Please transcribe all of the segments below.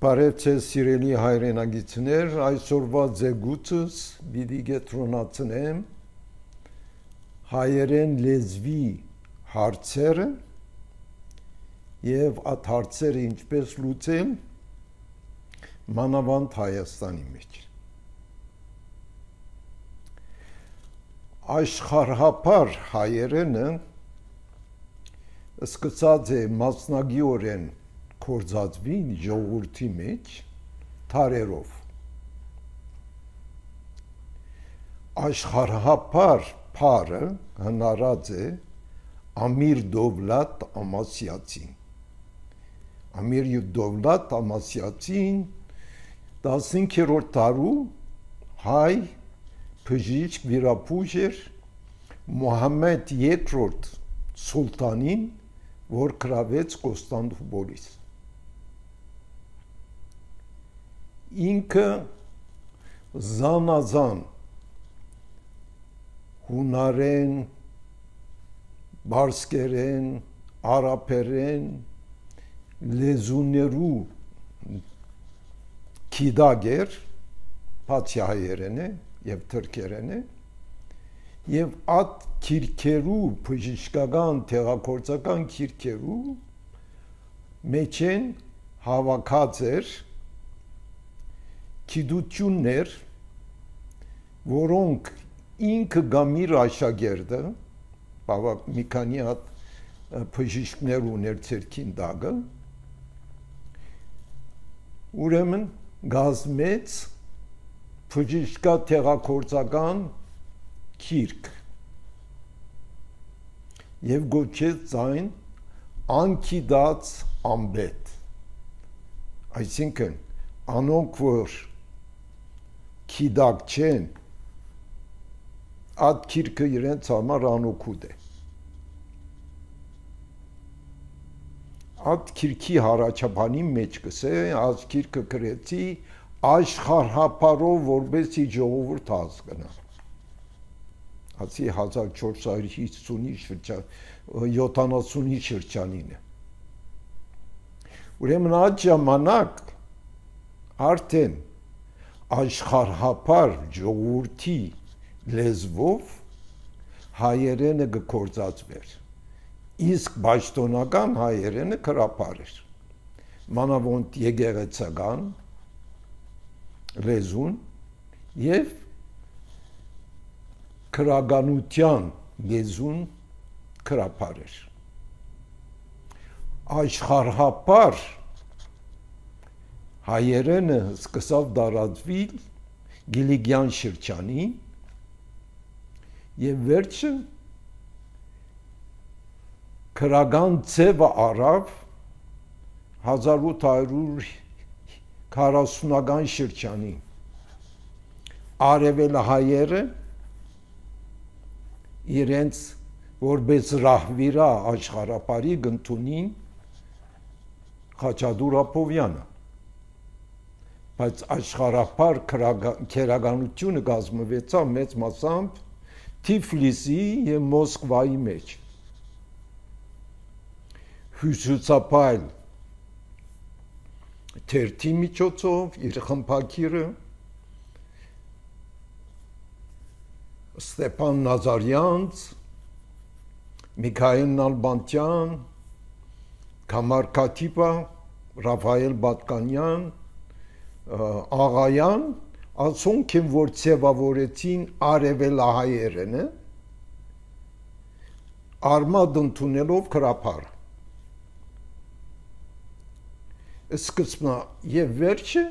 Բարև ձեզ սիրելի հայրենագիտներ, այսօրվա ձեգուցս պիտի կենտրոնացնեմ հայերեն լեզվի հարցերը եւ այդ հարցերը ինչպես լուծել մանավանդ Հայաստանի մեջ։ Աշխարհապար հայերենը սկսած է մասնագիտորեն կորզածվին ժողովրդի մեջ թարերով։ Աշխարհապար փարը հնարած է Ամիր Դովլատ Ամասիացին։ Ամիր Դովլատ Ամասիացին 15-րդ դարու հայ բժիշկ վիրապուժ էր Մուհամմեդ II սուլտանին, որ գրավեց Կոստանդնուպոլիս։ Ինքը զանազան հունարեն, բարսկերեն, արաբերեն լեզուներու գիտակ էր, բացի հայերեն է եւ թրքերեն է, եւ այդ քիրքերու բժշկական տեղակորցական քիրքերու մեջ են հավաքած էր գիտություններ, որոնք ինքը գամիր աշակերտը մի քանի հատ բժիշկներ ուներ ցերքին դագը, ուրեմն գազմեց բժշկա տեղակորցական քիրք եւ գոչեց այն անկիդած ամբետ, այսինքն անոնք որ քիդակ չեն, այդ քիրքը իրենց համար անօգուտ է։ Այդ քիրքի հարաճապանի մեջ կսե, այդ քիրքը գրեցի աշխարհապարով որպեսի ժողովուրդ հասկանա։ Ասի 1450-ի շրջանին է։ Ուրեմն այդ ժամանակ արդեն աշխարհապար ժողովրդի լեզվով հայերենը գործածվեր, իսկ պաշտոնական հայերենը քրապար էր, մանավանդ եկեղեցական լեզուն եւ քրագանության լեզուն քրապար էր։ Աշխարհապար հայերենը սկսավ տարածվել Գիլիգյան շրջանին եւ վերջը քրագան ձևը առավ 1840-ական շրջանին։ Արևելահայերը իրենց որպես ռահվիրա աշխարհապարի գտնունին Խաչատուր Աբովյանը, բայց աշխարհապար քերականությունը կազմվեցավ մեծ մասամբ Թիֆլիսի եւ Մոսկվայի մեջ։ Հյուսիսապայլ թերթի միջոցով իր խմբակիրը Ստեփան Նազարյանց, Միքայել Նալբանդյան, Կամար Քաթիպա, Ռաֆայել Բատկանյան, Աղայան, ասոնք են, որ ձևավորեցին արևելահայերենը, արմատ ընդունելով քրապարը։ Սկզբնա եւ վերջը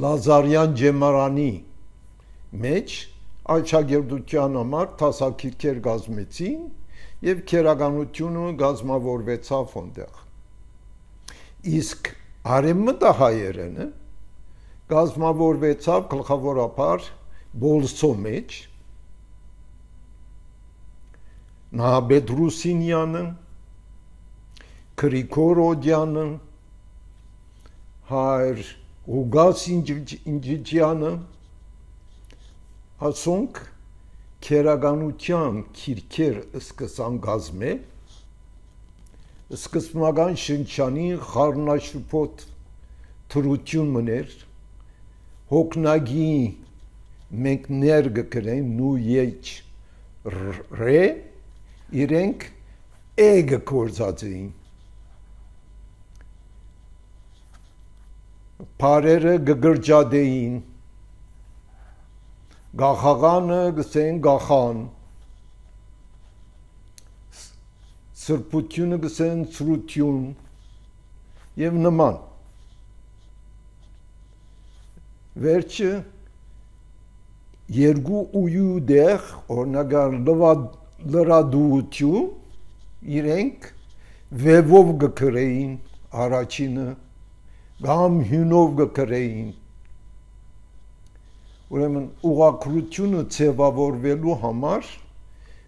Լազարյան Ջեմարանի մեջ աջակերտության համար տասակիրքեր գազմեցին եւ քերականությունը գազմավորվեցավ այնտեղ։ Իսկ արևմտահայերենը գազմավորվեցավ գլխավորապես Բոլսո մեջ, Նահաբեդ Ռուսինյանը, Գրիգոր Օդյանը, հայր Ուգաս Ինջիջյանը, ասոնք քերականության քիրքեր սկսան գազմել, սկզբնական շնչանի խառնաշփոթ թրություն մներ հոգնագի մենք ներգ կրեն նու եջ ռե իրենք էգը կործած էին Փարերը գգրջադեին գախաղանը գսեն գախան սրբությունը գսեն սրություն եւ նման վերջը երկու ույու դեղ օրնագար լրադուություն իրենք վևով գկրեին առաջինը գամ հյունով գկրեին ուրեմն ուղղակրությունը ձևավորվելու համար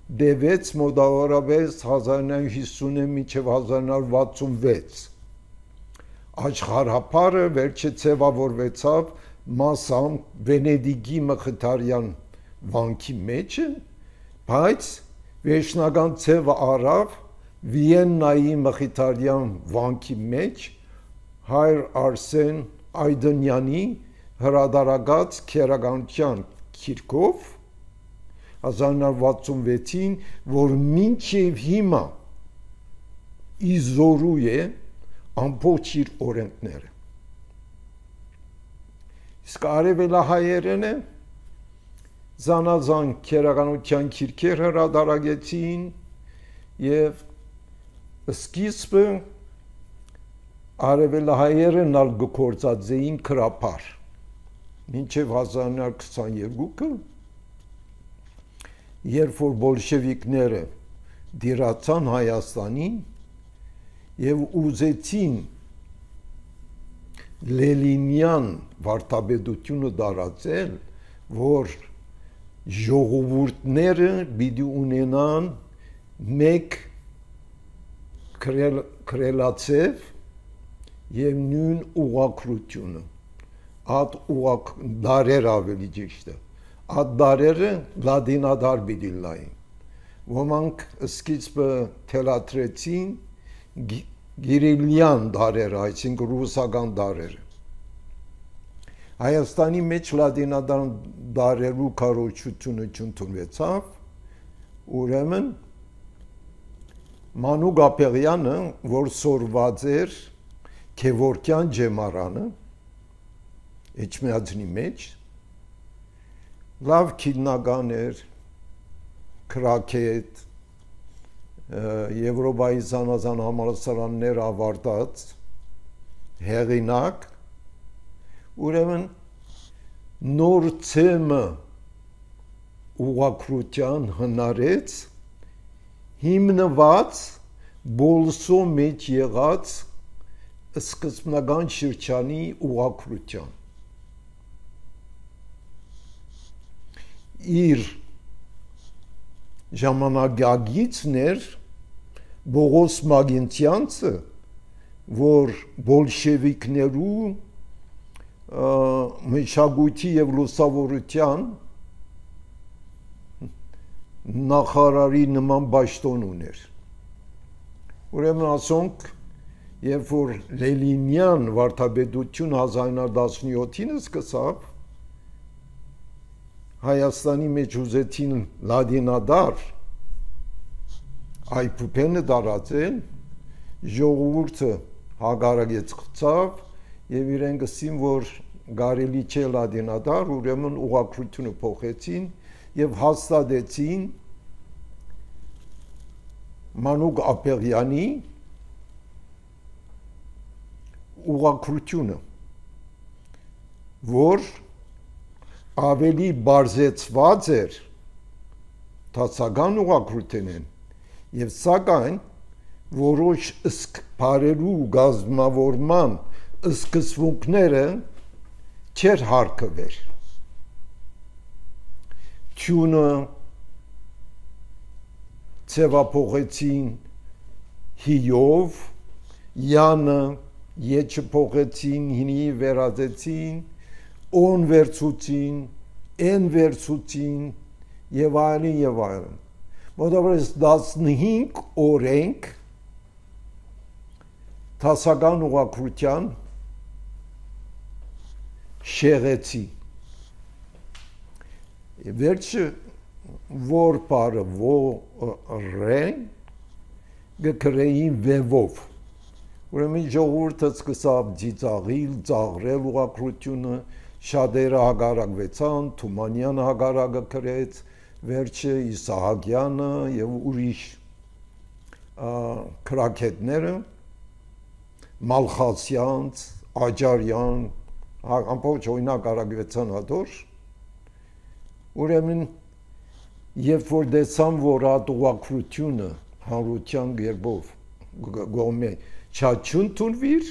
դեվեց մոտավորապես 1950 մինչև 1966 աշխարհապարը վերջը ձևավորվեցավ մասամբ Վենեդիգի Մխիթարյան վանքի մեջ բայց վերջնական ձևը առավ Վիեննայի Մխիթարյան վանքի մեջ Հայր Արսեն Այդնյանի հրադարագած քերականության քիրքով 1966-ին որ մինչև հիմա իզորու է ամբողջ իր օրենքները իսկ արևելահայերենը զանազան քերականության քիրքեր հրադարագեցին եւ սկիզբը արևելահայերն ալ գործածեին քրապար մինչև 1922-ը երբ որ բոլշևիկները դիրացան Հայաստանին եւ ուզեցին Լենինյան վարդապետությունը դարածել որ ժողովուրդները պիտի ունենան մեկ քրելացև եւ նույն ուղղակրությունը այդ ուղղակ դարեր ավելի ճիշտ է այդ դարերը լադինադար պիտի լային ոմանք սկիզբը թելադրեցին գիրիլյան դարերը այսինքն ռուսական դարերը Հայաստանի մեջ լադինադար դարերու կառուցությունը չընդունվեցավ ուրեմն Մանուկ Ապեղյանը որ սորված էր Քևորքյան ջեմարանը Էջմիածնի մեջ լավ քիննական էր քրակետ Եվրոպայի զանազան համալսարաններ ավարտած հեղինակ ուրեմն նոր ցեմը ուղղակրության հնարեց հիմնված բոլսո մեջ եղած սկզբնական շրջանի ուղղակրության իր ժամանակագիցներ Բողոս Մագինցյանցը որ բոլշևիկներու մշակույթի եւ լուսավորության նախարարի նման պաշտոն ուներ ուրեմն ասոնք երբ որ Լենինյան վարդապետություն 1917-ին սկսավ Հայաստանի մեջ ուզեցին լադինադար այփուփենը դարածել ժողովուրդը հագարագեց խծավ եւ իրեն գսին որ գարելի չէ լադինադար ուրեմն ուղղակրությունը փոխեցին եւ հաստատեցին Մանուկ Ապեղյանի ուղղակրությունը որ ավելի բարձեցված էր դասական ուղղակրությունն եւ սակայն որոշ բարերու գազմավորման սկզբունքները չեր հարկվել ճունը ծեվափոխեցին հիով յանը եչը փոխեցին հինի վերածեցին on վերցուցին, են վերցուցին եւ այլն եւ այլն։ Մոտավորապես 15 օրենք Տասական ուղղակրության շեղեցի վերջը որ բարը ռեն գկրեին վևով ուրեմն ժողովուրդը սկսավ ծիծաղիլ ծաղրել ուղղակրությունը շատերը հագարակվեցան Թումանյանը հագարակը կրեց վերջը Իսահակյանը եւ ուրիշ քրակետները Մալխասյանց Աջարյան ամբողջ օրինակ արագվեցան հատոր ուրեմն երբ որ դեսան որ այդ ուղղակրությունը հանրության գերբով գոմե չաչուն թունվիր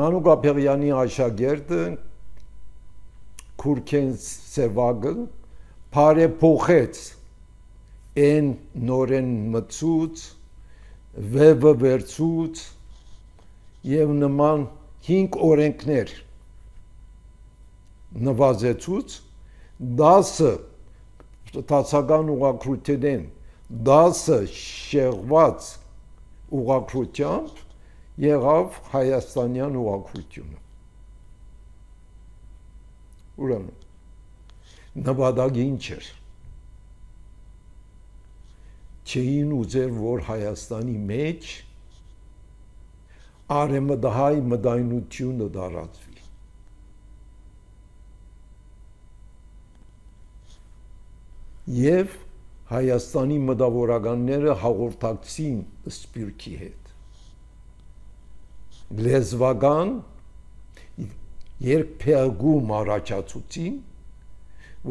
Մանուկ Աբեղյանի աշակերտը Քուրքեն Սևագը բարեփոխեց են նորեն մցուց վեվը վերցուց եւ նման 5 օրենքներ նվազեցուց 10 տասական ուղղակրութեն 10 շեղված ուղղակրությամբ եղավ հայաստանյան ուղղակրությունը ուրեմն նվադագին չէր չէին ուզեր որ Հայաստանի մեջ արեմդահայ մդայնությունը դարածվի եւ Հայաստանի մտավորականները հաղորդակցին Սպիրկի հետ լեզվական երկփեղգում առաջացուցին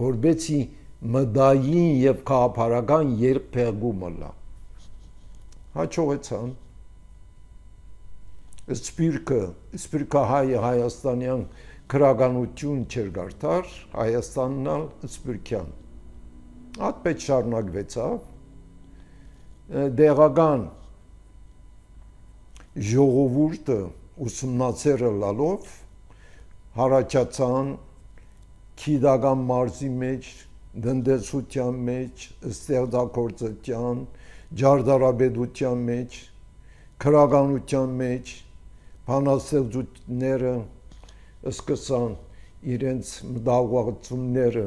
որբեցի մդային եւ քաղաքական երկփեղգումը լա հաջողեցան Սպիրկը հայաստանյան քրագանություն չեր գարտար Հայաստանն սպիրկյան Այդպես շարունակվեցավ դեղական ժողովուրդը ուսումնասիրը լալով հարաճացան քիդական մարզի մեջ դնդեսության մեջ ստեղծագործության ջարդարաբեդության մեջ քրագանության մեջ բանաստեղծությունները սկսան իրենց մտահոգությունները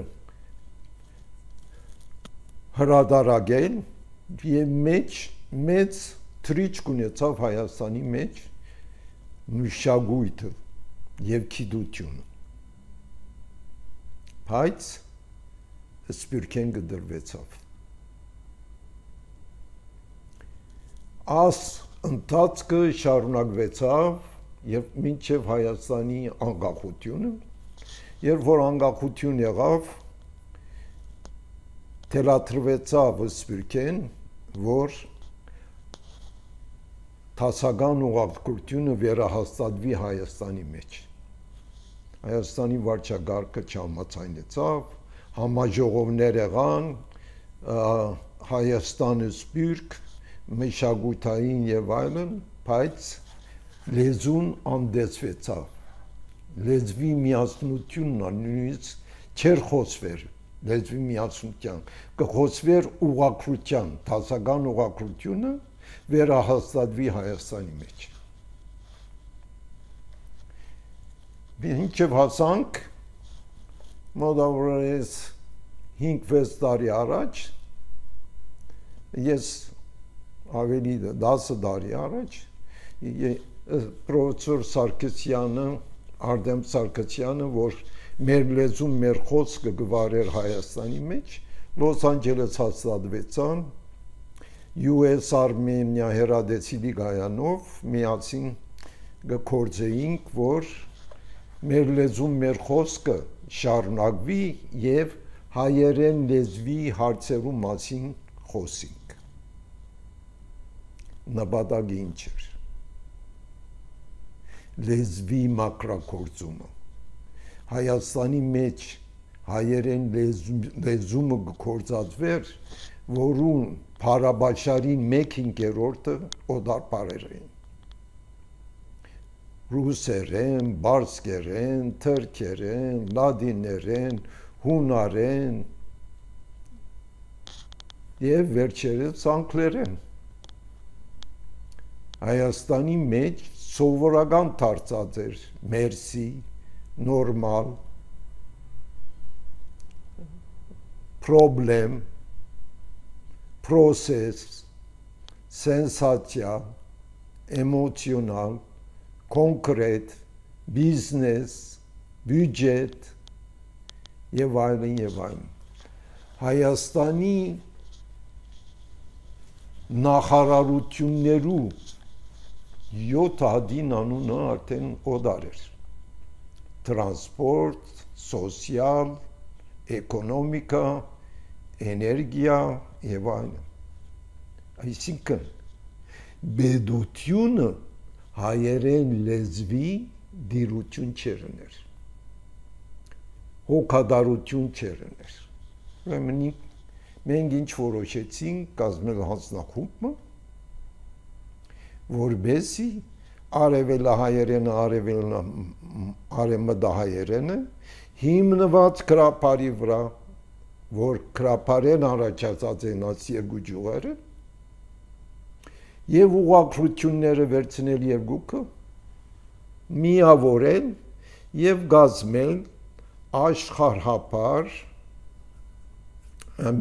հրադարագել եւ մեծ թրիչք ունեցավ Հայաստանի մեջ մշակույթը եւ գիտությունը բայց Սպիրկեն գդրվեցավ աս ընթացքը շարունակվեցավ եւ մինչեւ Հայաստանի անկախությունը երբ որ անկախություն եղավ թելաթրվեցավ Սպիրկեն որ տասական ուղղակրությունը վերահաստատվի Հայաստանի մեջ Հայաստանի վարչագահը չհամաձայնեցավ համաժողովներ եղան Հայաստանը Սպիրկ մշակութային եւ այլն բայց լեզուն անդեցվեցավ լեզվի միասնությունն նույնիսկ չեր խոսվեր լեզվի միասնության կխոսվեր ուղղակրության տասական ուղղակրությունը վերահաստատվի Հայաստանի մեջ մինչև հասանք մոտավորապես 5-6 տարի առաջ ես ավելի 10 տարի առաջ պրոֆեսոր Սարգսյանը Արտեմ Սարգսյանը որ մեր լեզուն մեր խոսքը գվարեր Հայաստանի մեջ Լոս Անջելես հաստատվեցան US Armenia հերադեցիլի գայանով միացին գործեինք որ մեր լեզուն մեր խոսքը շարունակվի եւ հայերեն լեզվի հարցերու մասին խոսենք նպատակին չէր լեզվի մակրագործումը Հայաստանի մեջ հայերեն լեզումը գործածվեր որուն Փարաբաշարին 1/5-ը օդար բարեր էին ռուսերեն, բարսկերեն, թրքերեն, լադիներեն, հունարեն եւ վերջերս անգլերեն Հայաստանի մեջ սովորական դարձած էր մերսի, նորմալ, պրոբլեմ, պրոսես, սենսացիա, էմոցիոնալ, կոնկրետ, բիզնես, բյուջետ եւ այլն եւ այլն։ Հայաստանի նախարարություններու 7 հատին անունը արդեն օդար էր։ Տրանսպորտ, սոցիալ, էկոնոմիկա, էներգիա եւ այլն։ Այսինքն բեդությունը հայերեն լեզվի դիրություն չերներ։ Հոգադարություն չերներ։ Ուրեմն մենք ինչ որոշեցինք կազմել հանձնախումբը, որբեսի արևելահայերենը, արևմտահայերենը հիմնված գրապարի վրա, որ գրապարեն առաջացած են այս երկու ճյուղերը, եւ ուղղակրությունները վերցնել երկուքը, միավորել եւ գազմել աշխարհապար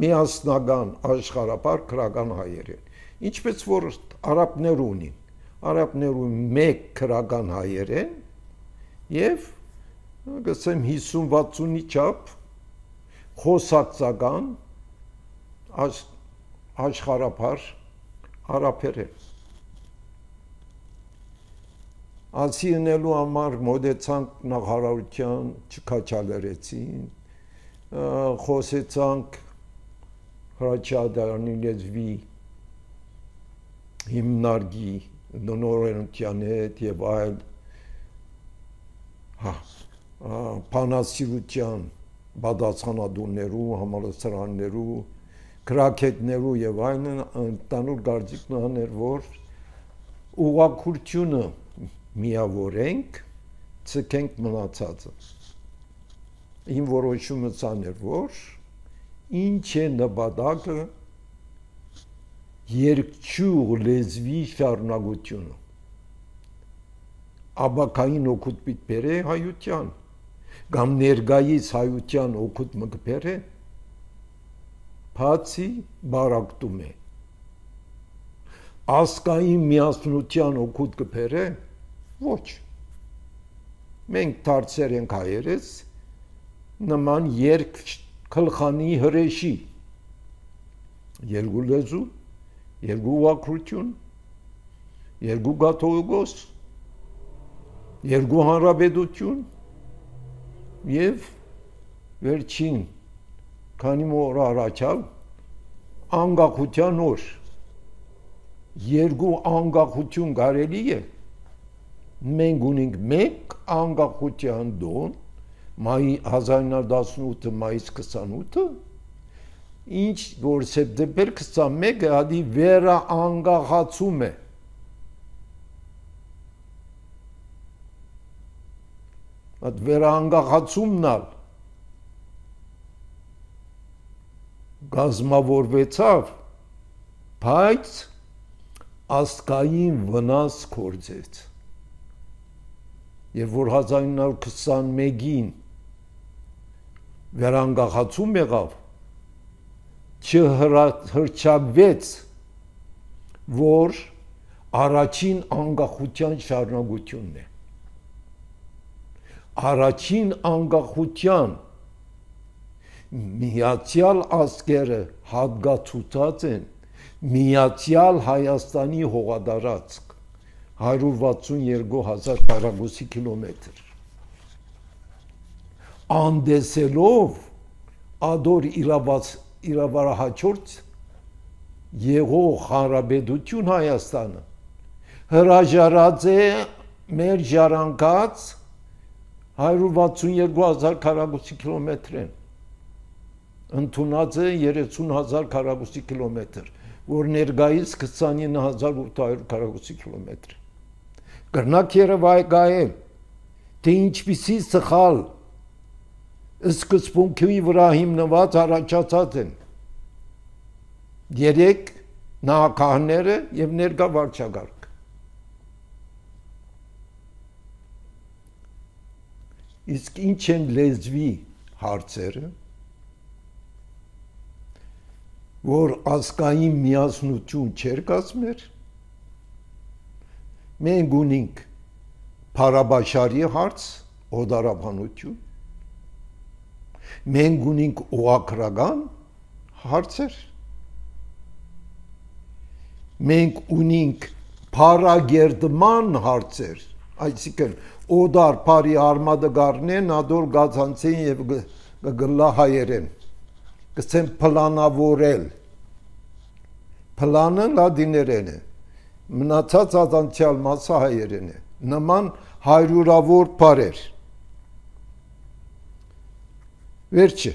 միասնական աշխարհապար քրական հայերեն, ինչպես որ արաբներ ունին, արաբներու մեկ քրական հայերեն եւ գսեմ 50-60-ի չափ խոսակցական աշխարհապար արաբերեն։ Ասինելու համար մոդեցանք նախարարության չքաչալերեցին, խոսեցանք հրաչադարանի լեզվի հիմնարկի նորենության հետ եւ այլ բանասիրության բադացանադուններու, համալսարաններու, գրաքետներու եւ այլն ընդանուր գարձիկն աներ, որ ուղղակրությունը միավորենք, ցկենք մնացածը։ Իմ որոշումը ցաներ, որ ինչ է նպատակը երկչուղ լեզվի շարունակությունը։ Աբակային օգուտ պիտի բերե հայության, կամ ներգայիս հայության օգուտ մը կբերե, բացի բարակտում է։ Ասկային միասնության օգուտ կբերե, ոչ։ Մենք դարձեր ենք հայերես նման երկ քլխանի հրեշի, երկու լեզու, երկու ուղղակրություն, երկու կաթողիկոս, երկու հանրապետություն եւ վերջին քանի օր առաջալ անկախության օր, երկու անկախություն կարելի է, մենք ունենք մեկ անկախության դոն, 1918 մայիս 28-ը, ինչ որ սեպտեմբեր 21-ը հադի վերա անկախացում է։ Այդ վերա անկախացումն ալ գազմավորվեցավ, բայց ասկային վնաս կործեց։ Եվ որ 1921-ին վերանգախացում եղավ, չհրճակվեց, որ առաջին անկախության շարունակությունն է։ Առաջին անկախության միացյալ ազգերը հատկացուցած են միացյալ Հայաստանի հողադարածք 162,000 քառակուսի կիլոմետր։ Անդեսելով ադոր իրավարահաջորդ եղող հանրապետություն Հայաստանը հրաժարած է մեր ժառանգած 162,000 քառակուսի կիլոմետրեն, ընդունած է 30,000 քառակուսի կիլոմետր, որ ներկայիս 29,800 քառակուսի կիլոմետր։ Կրնակ երևայգայել, թե ինչպիսի սխալ սկզբունքի վրա հիմնված առաջացած են երեք նախագահները եւ ներկա վարչագահ։ Իսկ ինչ են լեզվի հարցերը, որ ազգային միասնություն չեր կազմեր, մենք ունենք փարաբաշարի հարց, օդարաբանություն, մենք ունենք ուղղակրական հարցեր, մենք ունենք փարագերդման հարցեր, այսինքն օդար փարի արմադը գառնեն, ադոր գացանցեն եւ գլա հայերեն, կսեն պլանավորել, պլանը լադիներեն է, մնացած ազանցյալ մասը հայերեն է, նման հայրուրավոր պարեր, վերջը,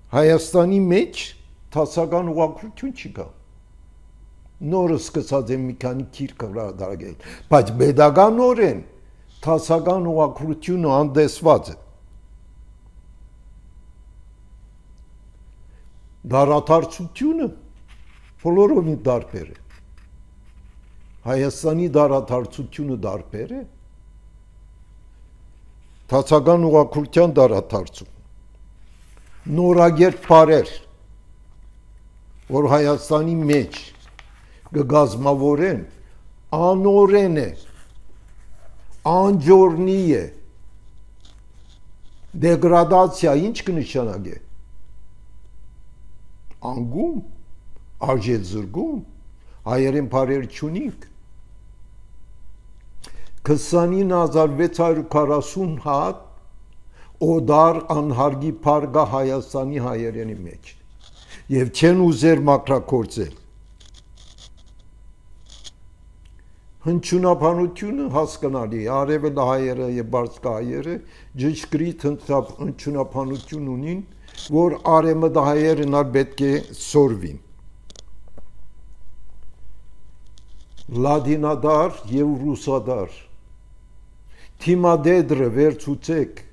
Հայաստանի մեջ տասական ուղղակրություն չկա, նորը սկսած են մի քանի քիրք հրադարագել, բայց պետականորեն տասական ուղղակրությունը անդեսված է, դարադարձությունը բոլորովին դարբեր է, Հայաստանի դարադարձությունը դարբեր է, տասական ուղղակրության դարադարձում, նորագերտ պարեր, որ Հայաստանի մեջ գգազմավորեն, անորեն է, անջորնի է, դեգրադացիա, ինչ կնշանագե, անգում, արժետ զրգում, հայերեն պարեր չունիք, 29640 հատ օդար անհարգի պարգա Հայաստանի հայերենի մեջ և չեն ուզեր մակրակործել հնչյունաբանությունը հասկանալի արևելը հայերը և բարձկա հայերը ճշգրիտ հնչյունաբանություն ունին որ արևմտա հայերն ալ պետք է սորվին լադինադար և ռուսադար թիմադեդրը վերցուցեք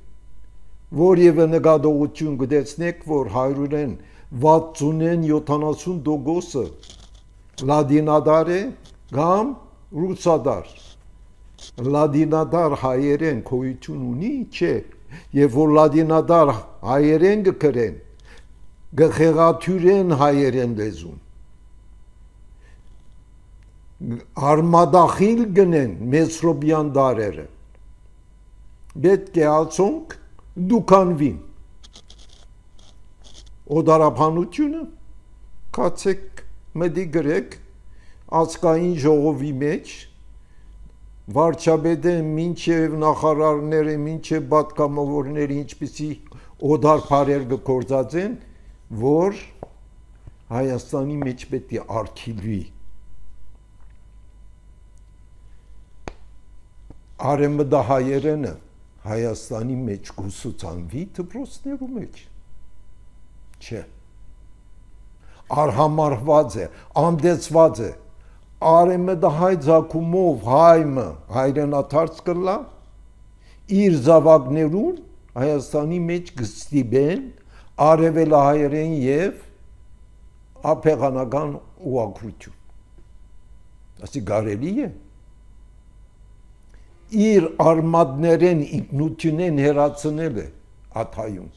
որևէ նկատողություն գտեցնեք, որ 160-70% լադինադար է կամ ռուսադար։ Լադինադար հայերեն գոյություն ունի, չէ, եւ որ լադինադար հայերեն կգրեն, գխեղաթյուրեն հայերեն լեզուն։ Արմադախիլ գնեն մեսրոբյան դարերը։ Պետք է ասոնք դուքանվին օդարաբանությունը կացեք մդի գրեք ազգային ժողովի մեջ վարչապետը մինչև նախարարները մինչև պատգամավորները ինչպիսի օդար բարեր գործածեն որ Հայաստանի մեջ պետք է արգելվի արևմտահայերենը Հայաստանի մեջ գուսուցանվի դպրոցներու մեջ չէ արհամարված է անդեցված է արևմտահայ ցակումով հայմը հայրենադարձ կլա իր զավակներուն Հայաստանի մեջ գստիբեն արևելահայերեն եւ ափեղանական ուղղակրություն ասի կարելի է իր արմատներեն ինքնությունեն հերացնել է աթայում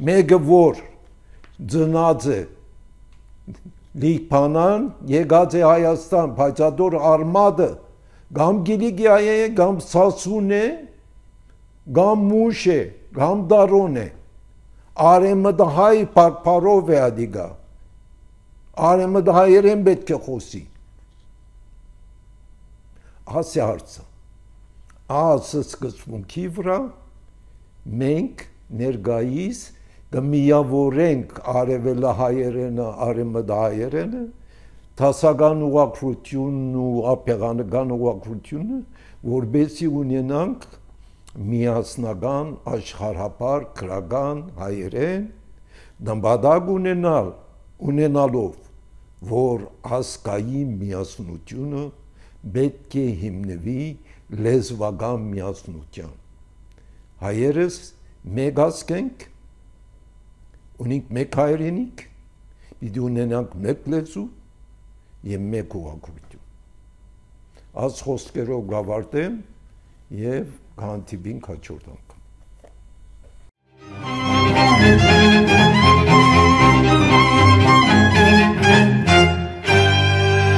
մեկը որ ծնած է լիփանան եկած է Հայաստան բայց ադոր արմատը կամ գիլիգիա է կամ սասուն է կամ մուշ է կամ դարոն է արեմդահայ պարով է ադիգա արեմդահայերեն պետք է խոսի ասի հարցը ասը սկզբունքի վրա մենք ներգայիս կմիավորենք արևելահայերենը արևմտահայերենը տասական ուղղակրությունն ու ափեղանական ուղղակրությունը որբեսի ունենանք միասնական աշխարհապար քրական հայերեն նպատակ ունենալով որ ազգային միասնությունը պետք է հիմնվի լեզվական միասնության հայերս մեկ ազգ ենք ունենք մեկ հայրենիք պիտի ունենանք մեկ լեզու եւ մեկ ուղղակրություն աս խոսքերով գավարտեմ եւ կհանդիպինք հաջորդ անգամ։